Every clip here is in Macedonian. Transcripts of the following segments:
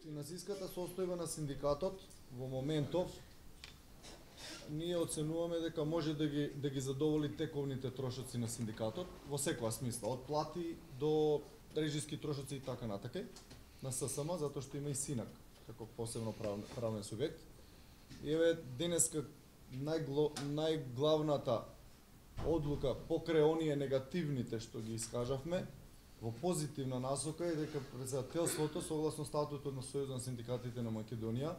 Финансиската состојба на синдикатот во моментов ние оценуваме дека може да ги задоволи тековните трошоци на синдикатот во секоја смисла, од плати до режиски трошоци и така натака на ССМ, затоа што има и СИНАК како посебно правен субјект. И еве денеска најглавната одлука покрај оние негативните што ги искажавме во позитивна насока е дека председателството согласно статутот на Сојузот на синдикатите на Македонија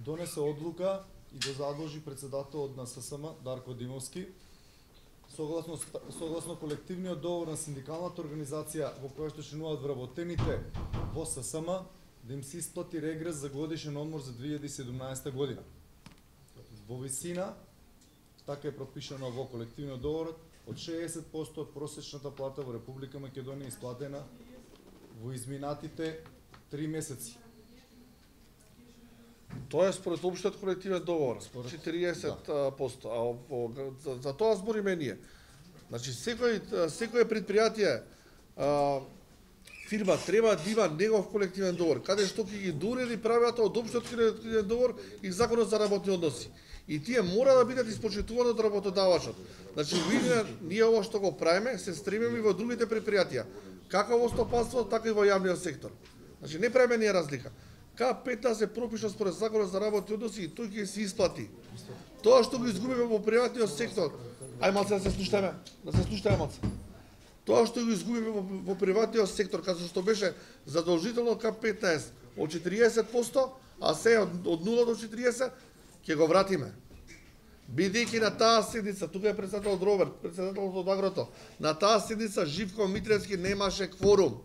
донесе одлука и го задолжи председателот на ССМ Дарко Димовски согласно колективниот договор на синдикалната организација во која што членуваат вработените во ССМ да им се исплати регрес за годишен одмор за 2017 година. Во висина, така е пропишано во колективниот договор, од 60% од просечната плата во Република Македонија исплатена во изминатите 3 месеци. Тоа е според општиот колективен договор, 40%, а за тоа збориме ние. Значи секој предпријатие, фирма треба да има негов колективен договор, каде што ќе ги доурedi правилата од општиот колективен договор и законот за работни односи. И тие мора да бидат испочитувани од работодавачот. Значи, ние ова што го правиме, се стремиме и во другите предпријатија, како во стопанството, така и во јавниот сектор. Значи, не правиме ние разлика. К15 се пропиша според законот за работни односи и тој ќе се исплати. Тоа што го изгубиме во приватниот сектор, ај малце да се слушаме малце. Тоа што го изгубиме во приватниот сектор, како што беше задолжително К15 од 40%, а се од 0 до 40%, ќе го вратиме. Бидејќи на таа седница, тука е председателот Роберт, председателот од Агрото, на таа седница Живко Митревски немаше кворум.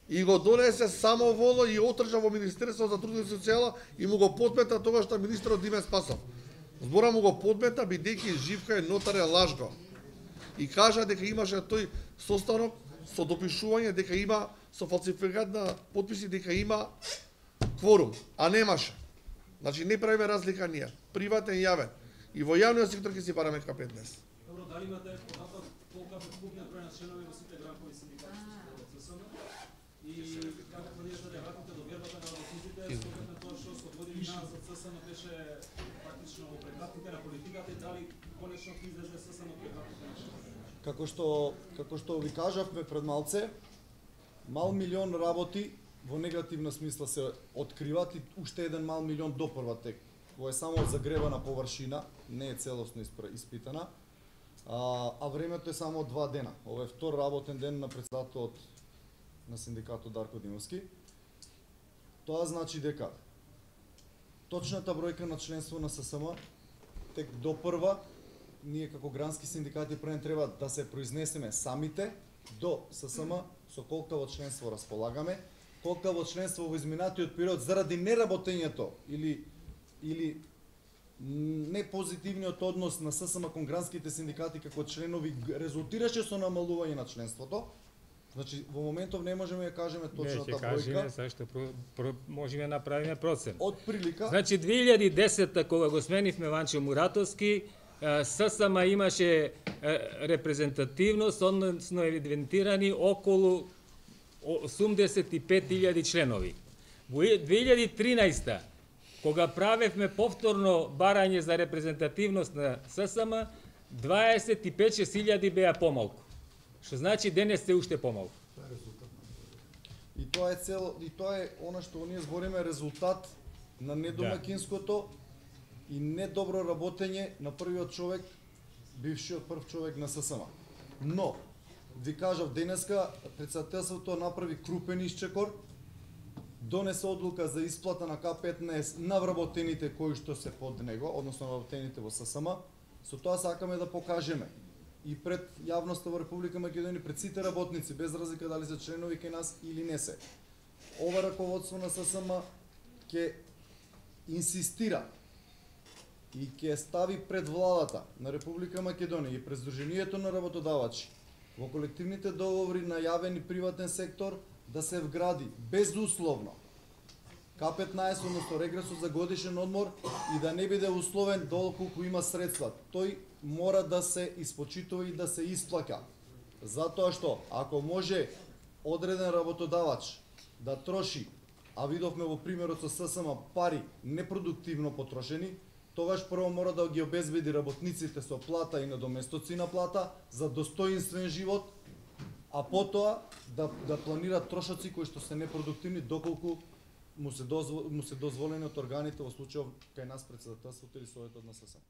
И го донесе самоволно и отржа во Министерството за труд и социјала и му го подмета тогаш на министерот Диме Спасов. Збора му го подмета бидејќи Живка е нотарен лажго. И кажа дека имаше тој состанок со допишување дека има со фалсификат на потписи дека има кворум, а немаше. Значи не правиме разлика ние, приватен и јавен. И во јавниот сектор ќе си бараме К15. Добро, дали имате податок колку е вкупниот број на членови во сите гранкови синдикати во ССМ? И како планирате да вратите до вербата на работниците, според тоа што со години назад ССМ беше практично во прегратките на политиката и дали конечно ќе излезе ССМ од прегратките на членови? Како што ви кажавме пред малце, мал милион работи во негативна смисла се откриват и уште еден мал милион допрва тек. Кој е само загребана површина, не е целосно испитана, а времето е само 2 дена. Ова е втор работен ден на председателот на синдикатот Дарко Димовски. Тоа значи дека точната бројка на членство на ССМ тек допрва, ние како грански синдикати прен треба да се произнесеме самите до ССМ со колкаво членство располагаме, колкаво членство во изминатиот период заради неработењето или непозитивниот однос на ССМ кон гранските синдикати како членови резултираше со намалување на членството. Значи во моментов не можеме да кажеме точната бројка. Не, ќе кажеме зашто можеме да направиме процен. Од прилика. Значи 2010 кога го сменивме Ванчо Муратовски, ССМ имаше репрезентативност, односно евидентирани околу 85.000 членови. Во 2013 кога правевме повторно барање за репрезентативност на ССМ, 25.000 беа помалку. Што значи денес се уште помалку. И тоа е она што ние збориме резултат на недомакинското и недобро работење на првиот човек, бившиот прв човек на ССМ. Но ви кажав денеска председателството направи крупен исчекор, донесе одлука за исплата на К15 на вработените кои што се под него, односно вработените во ССМ. Со тоа сакаме да покажеме и пред јавноста во Република Македонија, пред сите работници, без разлика дали се членови кај нас или не се. Ова раководство на ССМ ќе инсистира и ќе стави пред владата на Република Македонија и пред Сдруженијето на работодавачи во колективните договори на јавен и приватен сектор да се вгради безусловно К15, односно регресот за годишен одмор и да не биде условен доколку има средства. Тој мора да се испочитува и да се исплаќа. Затоа што ако може одреден работодавач да троши, а видовме во примерот со ССМ пари непродуктивно потрошени, тогаш прво мора да ги обезбеди работниците со плата и надоместоци на плата за достоинствен живот, а потоа да планира трошоци кои што се непродуктивни доколку му се дозволени од органите, во случајов кај нас председателството или советот на ССМ.